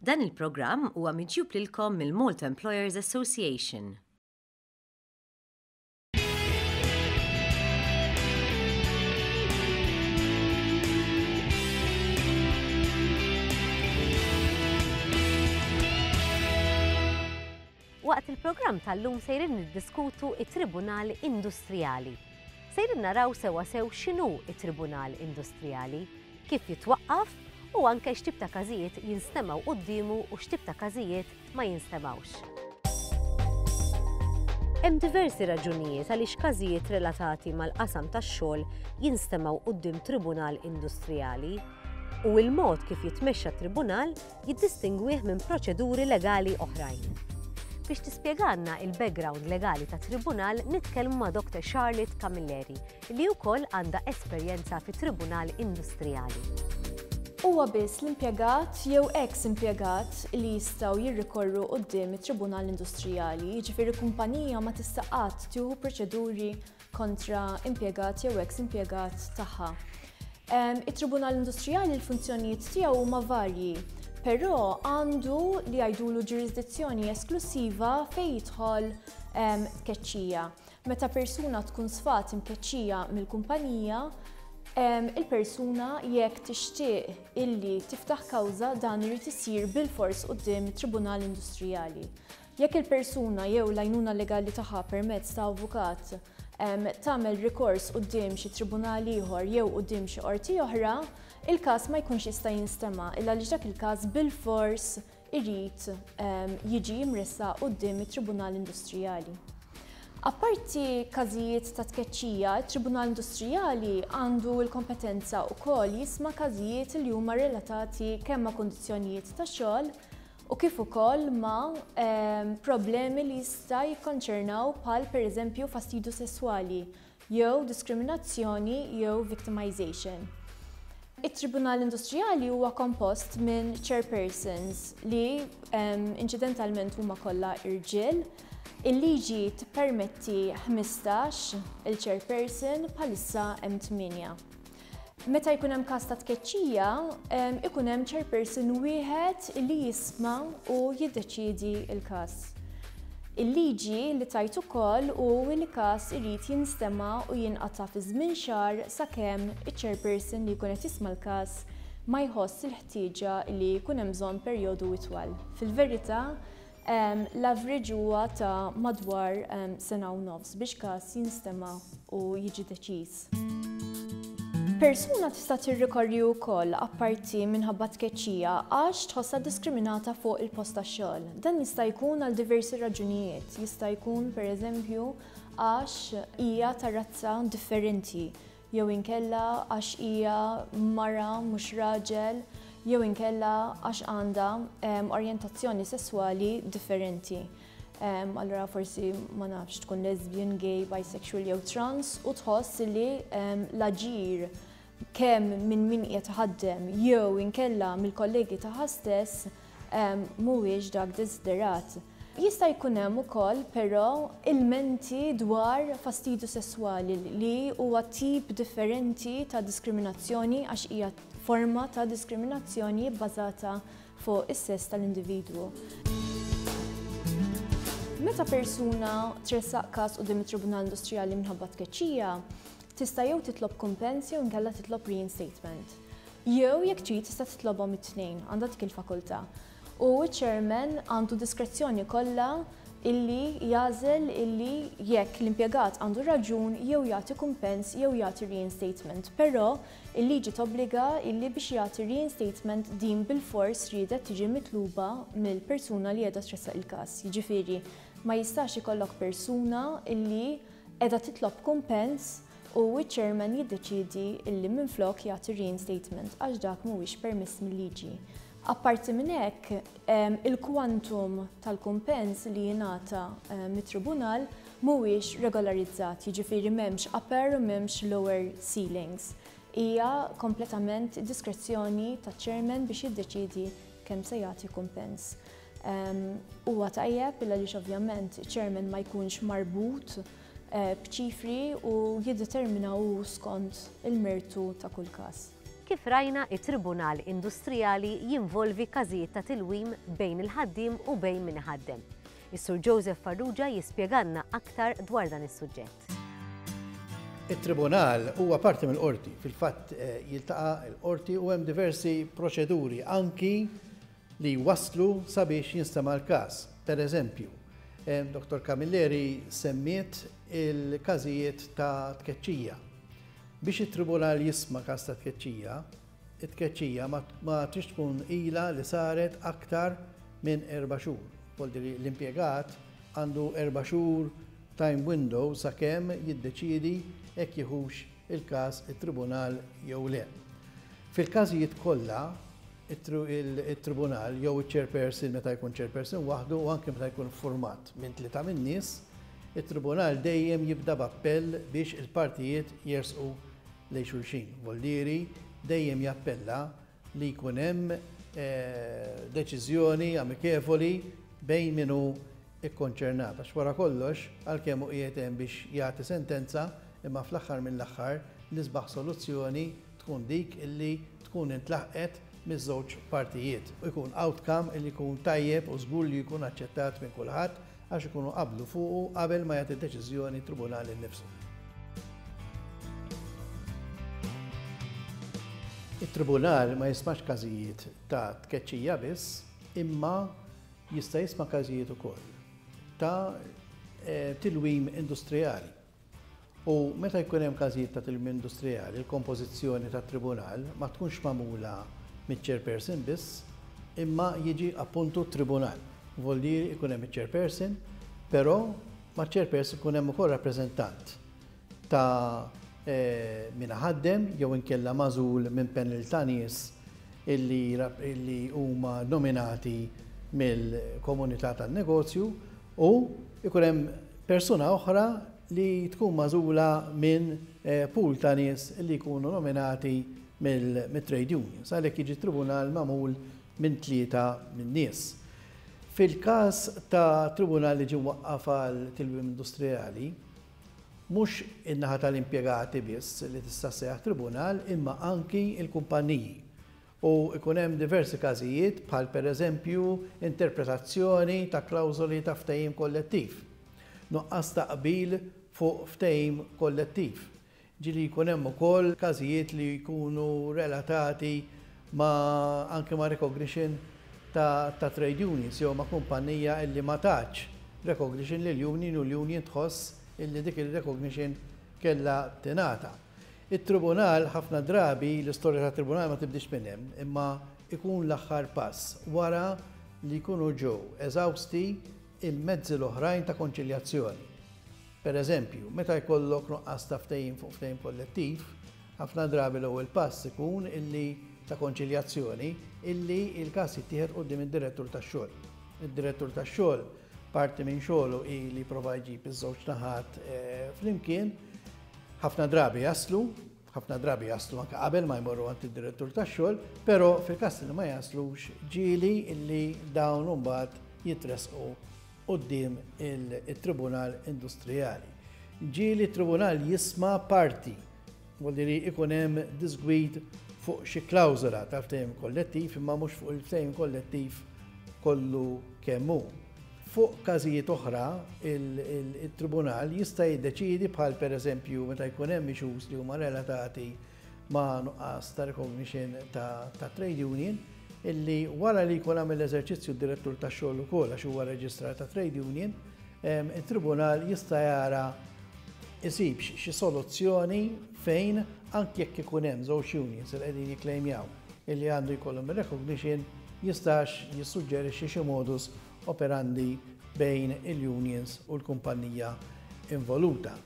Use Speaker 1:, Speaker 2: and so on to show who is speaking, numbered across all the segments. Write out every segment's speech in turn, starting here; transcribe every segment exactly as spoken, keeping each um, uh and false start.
Speaker 1: Dan il-programm huwa miġjub lilkom mill-Malta Employers Association. Waqt il-programm tal-lum sejrin niddiskutu it-Tribunal Industrijali. Sejrin naraw sewa sew x'inhu it-Tribunal Industrijali, kif jitwaqqaf u anke x'tip ta' każijiet jinstemgħu quddiemu u x'tip ta' każijiet ma jinstemgħux. Hemm diversi raġunijiet għaliex każijiet relatati mal-qasam tax-xogħol jinstemgħu quddiem Tribunal Industrijali u l-mod kif jitmexxa tribunal jiddistingwih minn proċeduri legali oħrajn. Biex tispjegalna il-background legali ta' tribunal nitkellmu ma' Doktor Charlotte Camilleri li wkoll għandha esperjenza fi Tribunal Industrijali.
Speaker 2: Huwa biss l-impjegat jew ex-impjegat li jistgħu jirrikorru quddiem it-Tribunal Industrijali, jiġifieri kumpanija ma tista' qatt tieħu proċeduri kontra impjegat jew ex-impjegat tagħha. It-Tribunal Industrijali l-funzjonijiet tiegħu huma varji, però għandu li jgħidulu ġurisdizzjoni esklusiva fejn jidħol tkeċċija. Meta persuna tkun sfat imkeċċija mill-kumpanija, il-persuna jekk tixtieq illi tiftaħ kawża dan irid isir bilfors quddiem it-Tribunal Industrijali. Jekk il-persuna jew l-għajnuna legali tagħha permezz ta' avukat tagħmel rikors quddiem xi tribunal ieħor jew quddiem xi qorti oħra, il-każ ma jkunx jista' jinstema' illa għaliex dak il-każ bilfors irid jiġi mressaq quddiem it-Tribunal Industrijali. Apparti każijiet ta' tkeċċija, it-Tribunal Industrijali għandu l-kompetenza wkoll jisma' każijiet li huma relatati kemm ma' kundizzjonijiet ta' xogħol u kif ukoll ma' problemi li jista' jikkonċernaw bħal pereżempju fastidju sesswali jew diskriminazzjoni jew victimization. It-Tribunal Industrijali huwa kompost minn chairpersons li inċidentalment huma kollha irġiel. Il-liġi tippermetti ħmistax il-chairperson, bħalissa hemm tmienja. Meta jkun hemm każ ta' tkeċċija, ikun hemm chairperson wieħed li jisma' u jiddeċiedi l-każ. Il-liġi li tajt ukoll hu li każ irid jinstema' u jinqata' fi żmien xahar sakemm iċ-chairperson li jkun qed jisma' l-każ ma jħoss il-ħtieġa li jkun hemm bżonn perjodu itwal. Fil-verità, l-average huwa ta' madwar sena u nofs biex każ jinstema' u jiġi deċiż. Persuna tista' tirrikorri wkoll apparti minħabba tkeċċija għax tħossha diskriminata fuq il-post tax-xogħol. Dan jista' jkun għal diversi raġunijiet. Jista' jkun pereżempju għax hija ta' razza differenti, jew inkella għax hija mara mhux raġel, jew inkella għax għandha orjentazzjoni sesswali differenti. Allura forsi ma nafx tkun lesbian, gay, bisexual jew trans u tħoss li l-aġir kemm minn min qiegħed iħaddem jew inkella mill-kollegi tagħha stess mhuwiex dak desiderat. Jista' jkun hemm ukoll però ilmenti dwar fastidju sesswali li huwa tip differenti ta' diskriminazzjoni għax hija forma ta' diskriminazzjoni bbażata fuq is-sess tal-individwu. Meta persuna tressaq każ quddiem it-Tribunal Industrijali minħabba tkeċċija, tista' jew titlob kumpens jew inkella titlob reinstatement. Jew jekk trid tista' titlobhom it-tnejn, għandha dik il-fakultà. U ċ-chairman għandu diskrezzjoni kollha illi jagħżel illi jekk l-impjegat għandu raġun jew jagħti kumpens jew jagħti reinstatement. Però il-liġi tobbliga illi biex jagħti reinstatement din bilfors riedet tiġi mitluba mill-persuna li qiegħda tressaq il-każ. Jiġifieri ma jistax ikollok persuna illi qiegħda titlob kumpens u ċ-chairman jiddeċiedi illi minflok jagħti reinstatement għax dak mhuwiex permess mill-liġi. Apparti minn hekk, il-kwantum tal-kumpens li jingħata mit-tribunal mhuwiex regolarizzat, jiġifieri m'hemmx upper u m'hemmx lower ceilings. Hija kompletament diskrezzjoni taċ-chairman biex jiddeċiedi kemm se jagħti kumpens. Huwa tajjeb illa għaliex ovvjament iċ-chairman ma jkunx marbut b'ċifri u jiddetermina hu skont il-mertu ta' kull każ.
Speaker 1: Kif rajna, it-Tribunal Industrijali jinvolvi każijiet ta' tilwim bejn il-ħaddiem u bejn min iħaddem. Is-Sur Joseph Farrugia jispjegalna aktar dwar dan is-suġġett.
Speaker 3: Il-Tribunal huwa parti mill-qorti, fil-fatt jiltaqa' l-qorti u hemm diversi proċeduri anki li waslu sabiex jinstema' l-każ. Per eżempju, Doktor Camilleri semmiet il-każijiet ta' tkeċċija. Biex it-tribunal jisma' każ ta' tkeċċija, it-tkeċċija ma tridx tkun ilha li saret aktar minn erba' xhur. Vuol dire l-impjegat għandu erba' xhur time window sakemm jiddeċiedi jekk jieħux il-każ it-tribunal jew le. Fil-każijiet kollha, it-tribunal jew iċ-chairperson meta jkun chairperson waħdu u anke meta jkun format minn tlieta min-nies, it-tribunal dejjem jibda b'appell biex il-partijiet jersqu lejn xulxin. Vuol dire dejjem jappella li jkun hemm deċiżjoni amikevoli bejn min hu ikkonċernat. Għax wara kollox, għalkemm hu qiegħed hemm biex jagħti sentenza, imma fl-aħħar mill-aħħar l-isbaħ soluzzjoni tkun dik illi tkun intlaħqet miż-żewġ partijiet. U jkun outcome illi jkun tajjeb u żgur li jkun aċċettat minn kulħadd għax ikunu qablu fuqu qabel ma jagħti deċiżjoni tribunal innifsu. Il-tribunal ma jismax każijiet ta' tkeċċija biss, imma jista' jisma' każijiet ukoll ta' tilwim industrijali. U meta jkun hemm każijiet ta' tilwim industrijali, il-kompożizzjoni tat-tribunal ma tkunx magħmula miċ-chairperson biss, imma jiġi appuntu tribunal. Vuol dire ikun hemm iċ-chairperson, però maċ-chairperson ikun hemm ukoll rappreżentant ta' min ħaddem jew inkella magħżul minn panel ta' nies illi huma nominati mill-komunità tan-negozju, u ikun hemm persuna oħra li tkun magħżula minn pool ta' nies li jkunu nominati mill-trade unions. Għalhekk jiġi tribunal magħmul minn tlieta minn nies. Fil-każ ta' tribunal li ġie mwaqqaf għal tilwim industrijali, mhux in-naħa tal-impjegati biss li tista' ssejjaħ tribunal, imma anki l-kumpanniji. U ikun hemm diversi każijiet bħal pereżempju interpretazzjoni ta' klawżoli ta' ftehim kollettiv, nuqqas ta' qbil fuq ftehim kollettiv. Ġieli jkun hemm ukoll każijiet li jkunu relatati ma' anke ma' recognition ta', ta' trade unions jew ma' kumpanija illi ma tatx recognition lil union u l-union tħoss illi dik il-recognition kellha tingħata. Il-tribunal ħafna drabi, l-istorja tat tribunal ma tibdix minn hemm, imma ikun l-aħħar pass wara li jkunu ġew eżawsti il-mezzi l-oħrajn ta' konċiljazzjoni. Per eżempju, meta jkollok nuqqas ta' ftehim fuq ftehim kollettiv, ħafna drabi l-ewwel pass ikun illi ta' konċiljazzjoni illi il-każ jittieħed quddiem id-direttur tax-xogħol. Id-direttur tax-xogħol parti minn xogħlu hi li jipprova jġib iż-żewġ naħat flimkien, ħafna drabi jaslu, ħafna drabi jaslu anke qabel ma jmorru għand id-direttur tax-xogħol, però fil-każ li ma jaslux ġieli illi dawn imbagħad jitressqu quddiem il-Tribunal Industrijali. Ġieli t-Tribunal jisma' parti, vuol dire ikun hemm disgwid fuq xi klawżola ta' ftehim kollettiv, imma mhux fuq il-ftehim kollettiv kollu kemm hu. Fuq każijiet oħra, il-tribunal jista' jiddeċiedi bħal pereżempju meta jkun hemm issues li huma relatati ma' nuqqas ta' recognition ta', ta' trade union, illi wara li jkun għamel l-eżerċizzju d-direttur tax-xogħol ukoll għax huwa reġistrat ta' trade union, il-tribunal jista' jara isibx xi soluzzjoni fejn anke jekk ikun hemm żewġ unions li qegħdin jikklejmjaw illi għandu jkollhom recognition, jistax jissuġġerixxi xi modus operandi bejn il-unions u l-kumpanija involuta.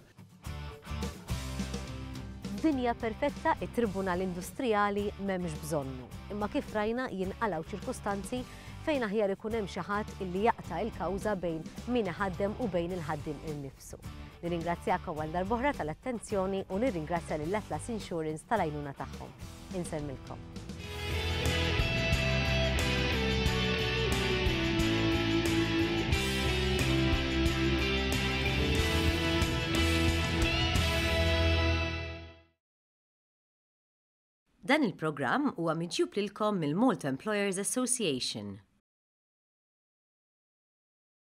Speaker 1: F'dinja perfetta, it-Tribunal Industrijali m'hemmx bżonnu. Imma kif rajna jinqalgħu ċirkustanzi fejn aħjar ikun hemm xi ħadd illi jaqta' il-kawża bejn min iħaddem u bejn il-ħaddiem innifsu. Nirringrazzjakom għal darb'oħra tal-attenzjoni u nirringrazzja lil Atlas Insurance tal-għajnuna tagħhom. Insellmilkom. Dan il-programm huwa miġjub lilkom mill-Malta Employers Association.